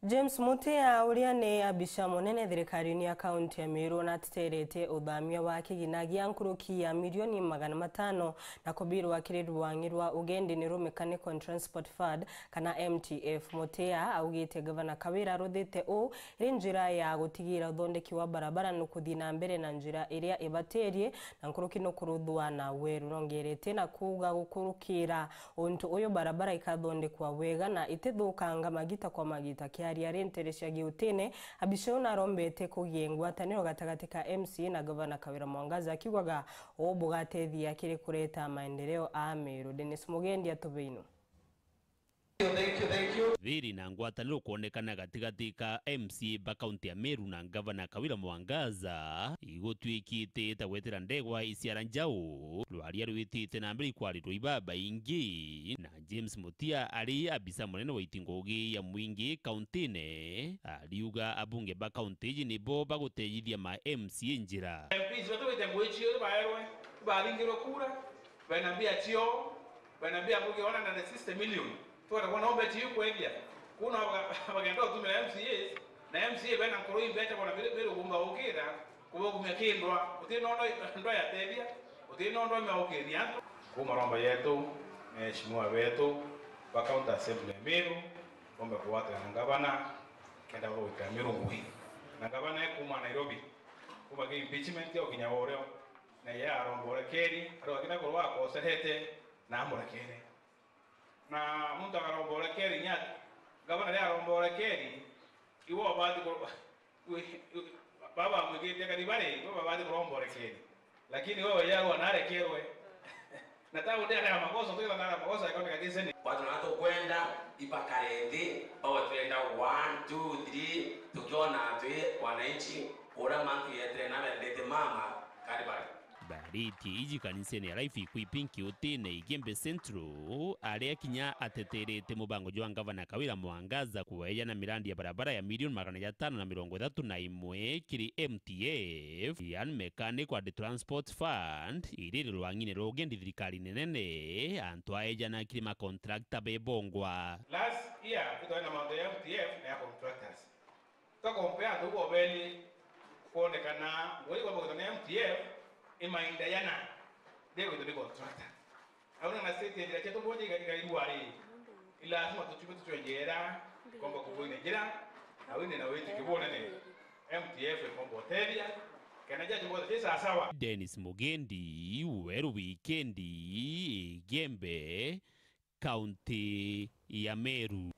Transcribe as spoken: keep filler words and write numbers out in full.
James Mutia, uria ni abica munene thirikarini ya kaunti ya Meru, nateterete uthamia wa kigina gia nkuruki ya milioni magana matano na kubirwa kiri rwangi rwa ugendi niru Mechanical and Transport Fund, kana M T F. Mutia augite Gavana Kawira aruthite uu iri njira ya gutigira uthondeki wa barabara nukuthii na mbere na njira iria ibatirie, na nkuruki nukuruthwa na weru. Nongerete na kuuga gukurukira untu uyu barabara ikathondekwa wega na itithukanga magita kwa magita. Kiaria ari ntere cia Giutine, abica uu narombete kugie ngwataniro gatagati ka M C A na Gavana Kawira Mwangaza, akiugaga uu bugatethia kiri kureta maendeleo a Meru. Dennis Mugendi atubeinu. Thank you, thank you. Thiri na ngwataniro kwonekana gatigati ka M C A ba kaunti ya Meru na Gavana Kawira Mwangaza igutwikite ta gwetera ndegwa iciara njau. Rwaria rwitite na mbere ikwarirwa ibabaingi, na James Mutia ari abisa munene wa itingugi ya mwingi kauntine ariuga abunge ba kaunti iji nibo bagutethithia ma M C A njira. M Ps batugite ngui cio ibaerwe, ibaringirwe kura, bena mbia cio, bena mbia ngugi one hundred and sixty million. Twenda kwona umbe tiu kwethia. Kuna baga-, bagenda gutumira M C As, na M C A bena nkuru imbecha bona biri, biri ugumba ukira, kubugumia kindwa, uti nondo ndwa yatethia, uti nondo imeukithia antu. Kuma romba yetu, meheshimiwa betu, ba County Assembly ya Meru, bombe kugwatira na ngavana, kenda bagwikira Meru ngui. Na ngavana ekuma Nairobi, kuma ki impeachment yo kinya urio, na ye aromba urekeri, ari wakina kurwa akoserete, na amurekere. Na muntu akaromba urekeri, nya ngavana ria aromba urekeri, iwe ubati ku-, wi-, wi-, baba amwikite kari bari, iwe babati kuromba urekeri. Lakini wewe yarwa narekerwe. Na ta undi arega makosa, tugira na makosa, akaoneka kiseni. Watu na tukwenda ibakare nthi, bawe twenda one, two, three, tukiona twi wananchi, ura mantu yetere na bendete mama, kari bari. Thariti iji kanisene ya Life Equipping Kiutine Igembe Central, aria kinya ateterete mubango jwa ngavana Kawira Mwangaza kueja na mirandi ya barabara ya milioni magana jatano na mirongo ithatu na imwe kiri M T F, yani Mechanical and Transport Fund, iriri rwang'ine rwa ugendi thirikarine nene, antu aeja na kiri makontrakta bebongwa. Last year, kutwari na mantu ya M T F na ya contractors. Twakompea antu bobeli kwonekana ngui kwamba kwithwa ni M T F, imainda yana, ndigwithwa ni contractor. Au na state njira cietu boja iga-, igairua ri, ni lazima tuchuke tuchwe njira, komba kuboine njira, na wine na witi kibonene. M T F ikomba utethia, kena jaji bote ti sasawa. Dennis Mugendi, Weru Wikendi, Igembe, kaunti ya Meru.